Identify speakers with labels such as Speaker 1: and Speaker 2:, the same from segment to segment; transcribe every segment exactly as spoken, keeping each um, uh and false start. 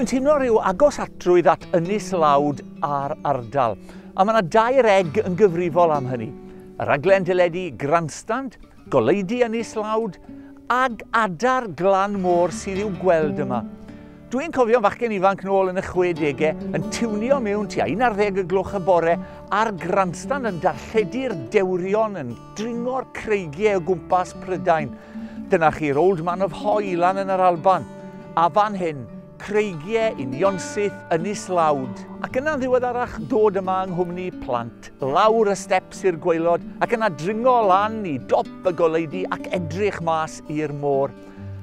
Speaker 1: Dwi'n teimlo rhyw agos atrwydd at Ynys Lawd a'r ardal, a mae yna dair egg yn gyfrifol am hynny. Y raglen deledu Grandstand, goleudy Ynys Lawd, ag adar glan môr sydd i'w gweld yma. Dwi'n cofio fachgen ifanc nôl yn y chwedegau yn tiwnio mewn tua un ar ddeg y gloch y bore a'r Grandstand yn darlledu'r dewrion yn dringo'r creigiau o gwmpas Prydain. Dyna chi'r Old Man of Hoy lan yn yr Alban. A fan hyn, creigiau unionsyth Ynys Lawd. Ac yna'n ddiweddarach dod yma yng nghwmni plant, lawr y steps i'r gwaelod ac yna dringo lan i dop y goleudy ac edrych mas i'r môr.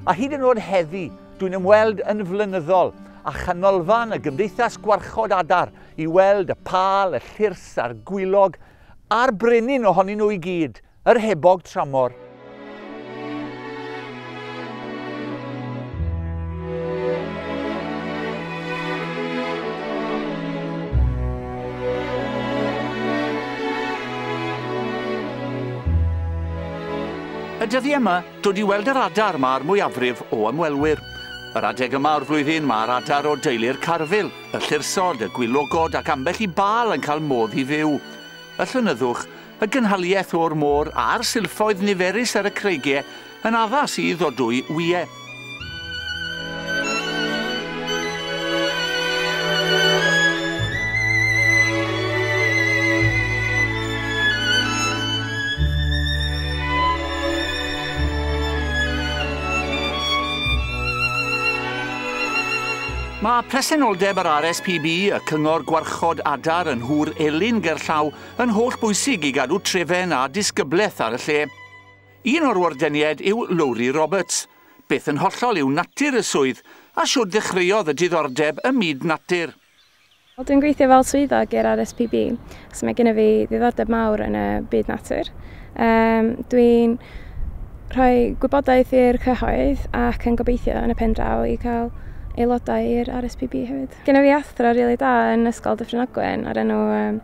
Speaker 1: A hyd yn oed heddi, dwi'n ymweld yn flynyddol a chanolfan y Gymdeithas Gwarchod Adar i weld y pâl, y llyrs a'r gwylog a'r brenin ohonyn nhw i gyd, yr hebog tramor. Y dyddiau yma, dod i weld yr adar mae'r mwyafrif o ymwelwyr. Yr adeg yma o'r flwyddyn mae'r adar o deulu'r carfil, y llyrsod, y gwylogod ac ambell i bâl yn cael modd i fyw. Y llonyddwch, y gynhaliaeth o'r môr a'r silffoedd niferus ar y creigiau yn addas i ddodwy wyau. Mae presenoldeb yr R S P B, y Cyngor Gwarchod Adar yn Nhŵr Elin gerllaw, yn holl bwysig i gadw trefen a disgyblaeth ar y lle. Un o'r wardeniaid yw Lowri Roberts. Beth yn hollol yw natur y swydd, a siwr ddechreuodd y diddordeb ym myd natur.
Speaker 2: Dwi'n gweithio fel swyddog i'r R S P B, so mae gennym fi ddiddordeb mawr yn y byd natur. Um, dwi'n rhoi gwybodaeth i'r cyhoedd ac yn gobeithio yn y pen draw i cael aelodau i'r R S P B hefyd. Genna fi athro rili da yn Ysgol Dyffryn Ogwen o'r enw um,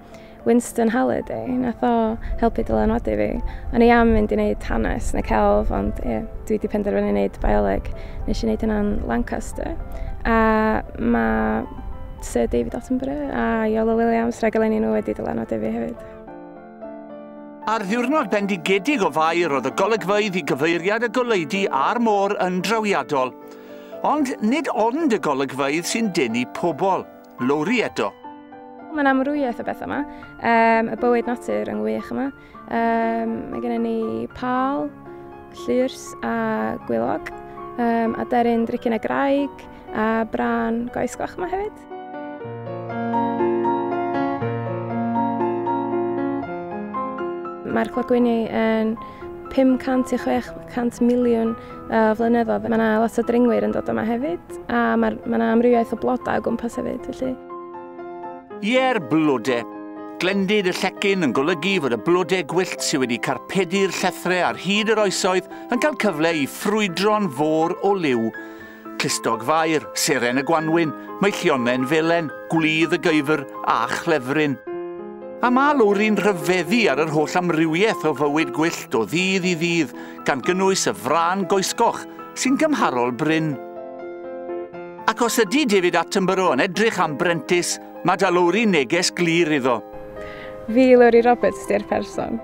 Speaker 2: Winston Halliday. Nath o helpu dylanwadu fi. O'n i am mynd i wneud hanes neu celf, ond ie, dwi wedi penderfynu wneud bioleg. Nes i wneud hynna'n Lancaster. A mae Sir David Attenborough a Iolo Williams, rhaglenni nhw wedi dylanwadu fi hefyd.
Speaker 1: Ar ddiwrnod bendigedig o Fai roedd y golygfeydd i gyfeiriad y goleudy a'r môr yn drawiadol. Ond nid ond y golygfeydd sy'n denu pobl. Lowri eto.
Speaker 2: Mae'n amrywiaeth o bethau yma. Um, y bywyd natur yn wych yma. Um, mae gennym ni pâl, llyrs a gwylog, um, a deryn drycin y graig a brân goesgoch yma hefyd. Mae'r clogwyni yn pum cant i chwech cant miliwn o flynyddoedd. Mae yna lot o dringwyr yn dod yma hefyd, a mae yna amrywiaeth o blodau o gwmpas hefyd, felly.
Speaker 1: Ie'r blodau. Glendid y llecyn yn golygu fod y blodau gwyllt sydd wedi carpedu'r llethrau ar hyd yr oesoedd yn cael cyfle i ffrwydro'n fôr o liw. Clustog Fair, seren y gwanwyn, meillionen felen, gwlydd y geifr a chlefryn. A mae Lowri'n rhyfeddu ar yr holl amrywiaeth o fywyd gwyllt o ddydd i ddydd, gan gynnwys y frân goesgoch sy'n gymharol brin. Ac os ydy David Attenborough yn edrych am brentis, mae da Lowri neges glir iddo.
Speaker 2: Fi, Lowri Roberts, di'r person.